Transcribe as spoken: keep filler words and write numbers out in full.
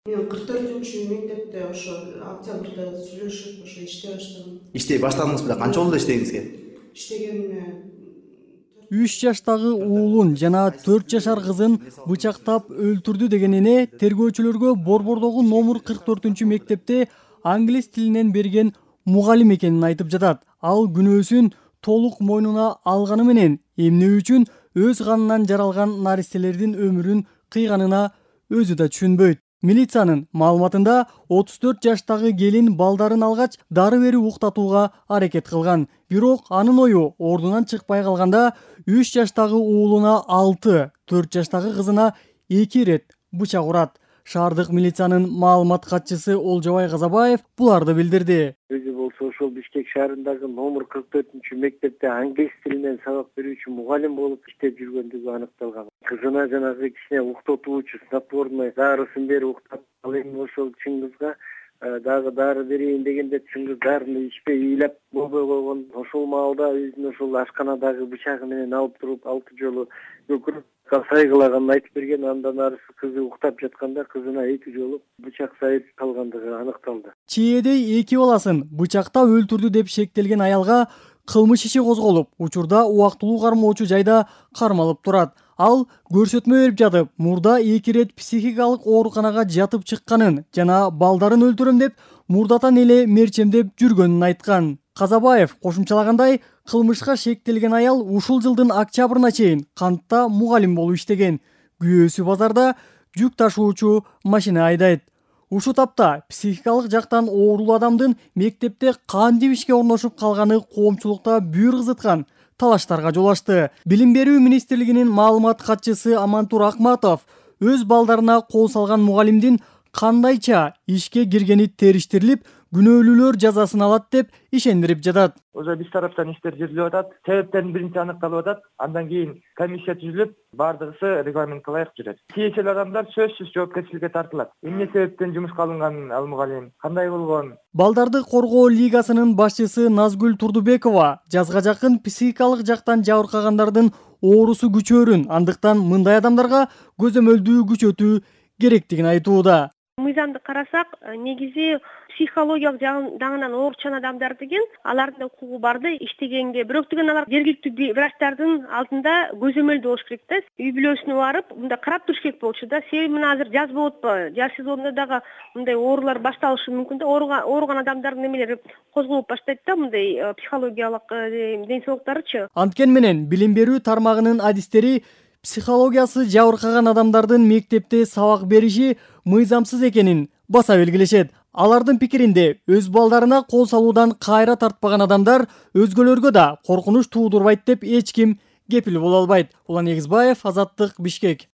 Мен кырк төртүнчү мектепте ошо октябрда сүйлөшүп ошо иштей баштадым. Иштей баштадыңыз беле? Канча болду иштегиңизге? Иштегениме үч жаштагы уулун жана төрт жашар кызын бычактап өлтүрдү деген эне тергөөчүлөргө Борбордогу номер кырк төртүнчү мектепте англис тилинен берген мугалим экенин айтып жатат. Ал күнөөсүн толук мойнуна алганы менен эмне үчүн өз канынан жаралган наристелердин өмүрүн кыйганына өзү да түшүнбөйт. Милициянын маалыматында отуз төрт жаштагы келин балдарын алгач дары берип уктатууга аракет кылган. Бирок анын ою ордунан чыкпай калганда үч жаштагы уулуна алты, төрт жаштагы кызына эки ирет бычак урат. Шаардык милициянын маалымат катчысы Олжобай Казабаев буларды билдирди. Өзү болсо ошол Бишкек шаарындагы номер кырк төртүнчү мектепте англис тилинен сабак берүүчү мугалим болуп иштеп жүргөндүгү аныкталган. Кызына жанагы кичине уктотуучу снотворный дарысын берип уктатып, ал эми ошол чыңгызга дагы дары берейин дегенде чыңгыз дарыны ичпей ыйлап болбой койгон. Ошол маалда өзүнүн ошол ашканадагы бычагы менен алып туруп алты жолу көкүрөк сайгылаганын айтып берген. Андан арысы кызы уктап жатканда кызына эки жолу бычак сайып калгандыгы аныкталды. Чиедей эки баласын бычактап өлтүрдү деп шектелген аялга кылмыш иши козголуп, учурда убактылуу кармоочу жайда кармалып турат. Ал көрсөтмө берип жатып, мурда эки ирет психикалык ооруканага жатып чыкканын жана балдарын өлтүрөм деп мурдатан эле мерчемдеп жүргөнүн айткан. Казабаев кошумчалагандай, кылмышка шектелген аял ушул жылдын октябрына чейин кантта мугалим болуп иштеген. Күйөөсү базарда жүк ташуучу машина айдайт. Ушул тапта психикалык жактан оорулуу адамдын мектепте кантип ишке орношуп калганы коомчулукта бүйүр кызыткан талаштарга жол ачты. Билим берүү министрлигинин маалымат катчысы Амантур Акматов өз балдарына кол салган мугалимдин кандайча ишке киргени териштирилип, күнөөлүүлөр жазасын алат деп ишендирип жатат. Уже биз тараптан иштер жүрүлүп атат. Себептерин биринчи аныкталып атат. Андан кийин комиссия түзүлүп, бардыгысы регламентке ылайык жүрөт. Тиешелүү адамдар сөзсүз жоопкерчиликке тартылат. Эмне себептен жумушка алынган ал мугалим, кандай болгон? Балдарды коргоо лигасынын башчысы Назгүл Турдубекова жазга жакын психикалык жактан жабыркагандардын оорусу күчөөрүн, андыктан мындай адамдарга көзөмөлдүү күчөтүү керектигин айтууда. Мыйзамды карасак, негизи психологиялык жагынан ооручан адамдар деген алардын укугу бар да иштегенге. Бирок деген алар жергиликтүү врачтардын алдында көзөмөлдүү болуш керек да. Үй бүлөсүнө барып, мындай карап туруш керек болчу да. Себеби мына азыр жаз болуп атпайбы? Жаз сезонунда дагы мындай оорулар башталышы мүмкүн да. Ооруган адамдардын немелери козголуп баштайт да, мындай психологиялык ден соолуктарычы. Анткени менен билим берүү тармагынын адистери психологиясы жабыркаган адамдардын мектепте сабак бериши мыйзамсыз экенин баса белгилешет. Алардын пикиринде өз балдарына кол салуудан кайра тартпаган адамдар өзгөлөргө да коркунуч туудурбайт деп эч ким кепил боло албайт. Улан Эгизбаев, Азаттык, Бишкек.